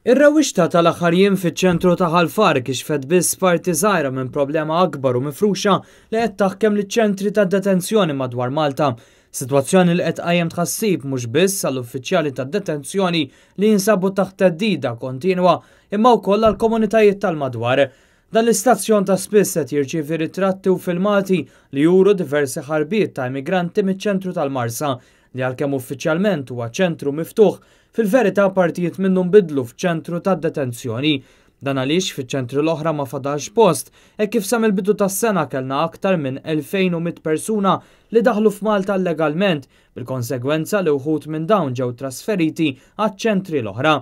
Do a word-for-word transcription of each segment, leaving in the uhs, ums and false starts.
Ir-rewwixta tal-aħħar jiem fiċ-ċentru ta' Ħal Far kixfet biss parti żgħira minn problema akbar u mifruxa li qed taħkem liċ-ċentri ta' detenzjoni madwar Malta. Sitwazzjoni li qed tqajjem tħassib mhux biss għall-uffiċjali ta' detenzjoni li jinsabu taħt theddida kontinwa, imma wkoll għall-komunitajiet tal-madwar. Dan l-istazzjon ta' spiss qed jirċievi ritratti u filmati li juru diversi ħarbiet ta' immigranti miċ-ċentru tal-Marsa, li għalkemm uffiċjalment huwa ċentru miftuħ, fil-verità partijiet minnu nbidlu f'ċentru ta' detenzjoni. Dan għaliex fiċ-ċentri l-oħra ma fadalx post, e kif sa mill-bidu tas-sena kellna aktar minn elfejn u mitt persuna li daħlu f'Malta legalment, bil-konsegwenza li wħud minn dawn ġew trasferiti għaċ-ċentri l-oħra.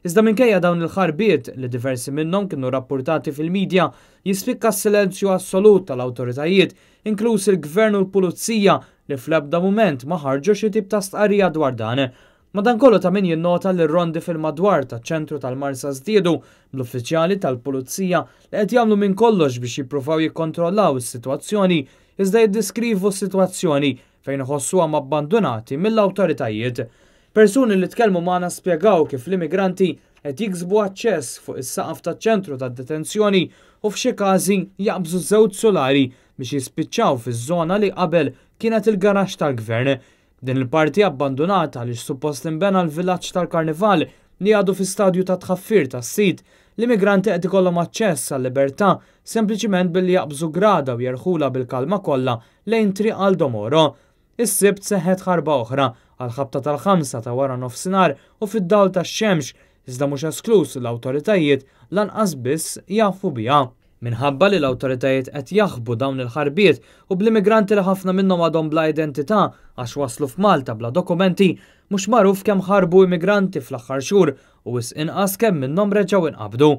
Iżda minkejja dawn il-ħarbiet li diversi minnhom kienu rapportati fil-medja, jispikka s-silenzju assolut tal-awtoritajiet, inkluż il-gvern u l-pulizija, li fl-ebda mument ma ħarġu xi tip ta' stqarrija dwar dan. Madankollu ta' min jinnota li r-rondi fil-madwar taċ-ċentru tal-Marsa żdiedu bl-uffiċjali tal-pulizija li qed jagħmlu minn kollox biex jippruvaw jikkontrollaw is-sitwazzjoni, iżda jiddeskrivu s-sitwazzjoni fejn iħossuhom abbandonati mill-awtoritajiet. Persuni li tkellmu magħna spjegaw kif l-immigranti qed jiksbu aċċess fuq is-saqaf taċ-ċentru tad-detenzjoni u f'xi każi jaqbżu żewġ solari biex jispiċċaw fiż-żona li qabel kienet il-garaxx tal-gvern. Din il-parti abbandonata li suppost inbena l-villaġġ tal-Karnival li għadu fi stadju ta' tħaffir tas-sit, l-immigranti qed ikollhom aċċess għal-libertà sempliċiment billi jaqbżu grada u jerħula bil-kalma kollha lejn Triq Aldo Moro. Is-Sibt seħħet ħarba oħra għal ħabta tal-ħamsa ta' wara nofsinhar u fid-dawl tax-xemx, iżda mhux esklus l-awtoritajiet lanqas biss jafu biha. Minħabba li l-awtoritajiet qed jaħbu dawn il-ħarbiet u bl-immigranti li ħafna minnhom għadhom bla identità għax waslu f'Malta bla dokumenti, mhux magħruf kemm ħarbu immigranti fl-aħħar xhur u wisq inqas kemm minnhom reġgħu inqabdu.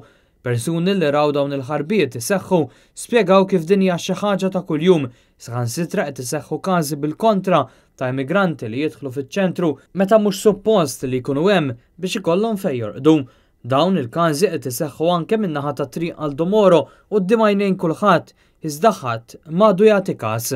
Persuni li raw dawn il-ħarbiet iseħħu spjegaw kif din hija xi ħaġa ta' kuljum, saħansitra qed iseħħu każi bil-kontra ta' immigranti li jidħlu fiċ-ċentru meta mhux suppost li jkunu hemm biex ikollhom fejn jorqdu. Dawn il-każi qed iseħħu anke min-naħa ta' Triq Aldo Moro quddiem għajnejn kulħadd, iżda ħadd m'għadu jagħti każ.